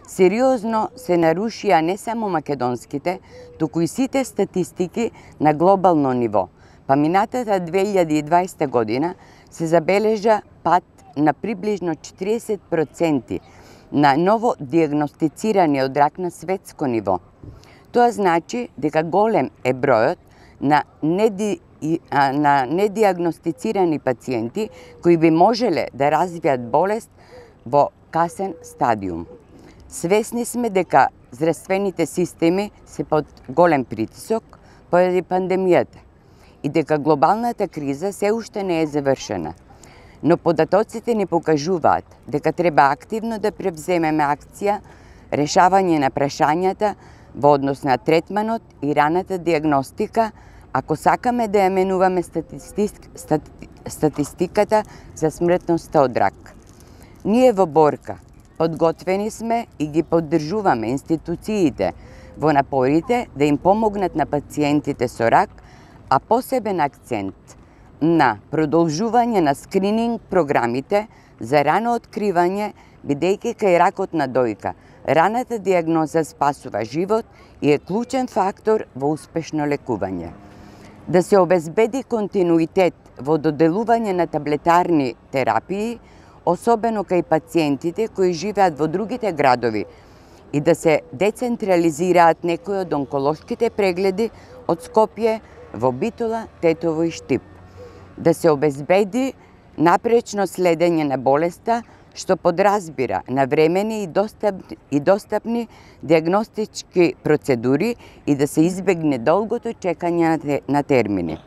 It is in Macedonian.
Сериозно се нарушија не само македонските, туку и сите статистики на глобално ниво. Па минатата 2020 година се забележа пад на приближно 40% на ново диагностицирани од рак на светско ниво. Тоа значи дека голем е бројот на недиагностицирани пациенти кои би можеле да развијат болест во касен стадиум. Свесни сме дека здравствените системи се под голем притисок поради пандемијата и дека глобалната криза се уште не е завршена. Но податоците ни покажуваат дека треба активно да превземеме акција, решавање на прашањата во однос на третманот и раната диагностика, ако сакаме да ја менуваме статистиката за смртноста од рак. Ние во борка подготвени сме и ги поддржуваме институциите во напорите да им помогнат на пациентите со рак, а посебен акцент на продолжување на скрининг програмите за рано откривање, бидејќи кај ракот на дојка раната диагноза спасува живот и е клучен фактор во успешно лекување. Да се обезбеди континуитет во доделување на таблетарни терапии, особено кај пациентите кои живеат во другите градови, и да се децентрализираат некои од онколошките прегледи од Скопје во Битола, Тетово и Штип. Да се обезбеди напречно следење на болеста, што подразбира навремени и достапни диагностички процедури и да се избегне долгото чекање на термини.